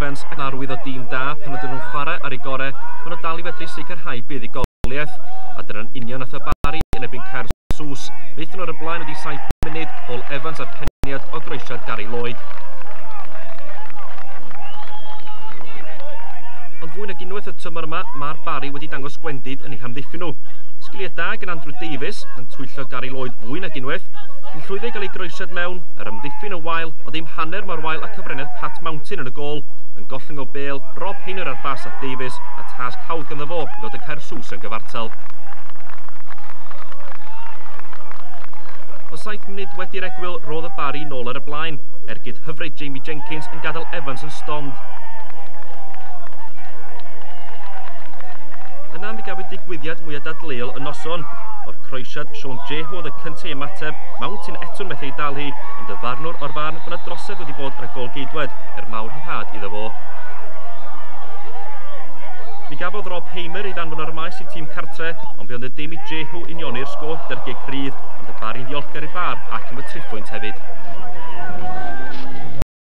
Evans yn arwydd o dîm da pan ydyn nhw'n chwarae ar eu gorau, maen nhw dal i fedru sicrhau buddugoliaeth. A dyna'n union nath y Barri yn erbyn Caersws. Wnaethon nhw ar y blaen wedi 7 munud, Paul Evans a'r peniad o groesiad Gary Lloyd. Ond fwy nag unwaith y tymor yma, mae'r Barri wedi dangos gwendid yn eu hamddiffyn nhw. Sgiliau da gan Andrew Davies yn twyllo Gary Lloyd fwy nag unwaith, yn llwyddo i gael ei groesiad mewn, yr amddiffyn yn wael, ond ddim hanner mor wael a cyfraniad Pat Mountain yn y gôl, yn gollwng o bêl, Rob Hainer ar bas at Davies, a tasg hawdd ganddo fo i ddod y Caersws yn gyfartal. O 7 munud wedi'r egwyl, roedd y Barri nôl ar y blaen, ergyd hyfryd Jamie Jenkins yn gadael Evans yn stond. Yna mi gafwyd digwyddiad mwyaf dadleuol y noson. O'r croesiad, Sean Jehu oedd y cyntaf i ymateb, Mountain eto'n methu ei dal hi, ond y farnwr o'r farn bod yna drosedd wedi bod ar y gôl-geidwad, er mawr rhyddhad iddo fo. Mi gafodd Rob Hamer ei ddanfon ar y maes i tîm cartre, ond bu ond y dim i Jehu unioni'r sgôr gyda'r gic rydd, ond y Barri'n ddiolchgar i'r VAR ac am y triphwynt hefyd.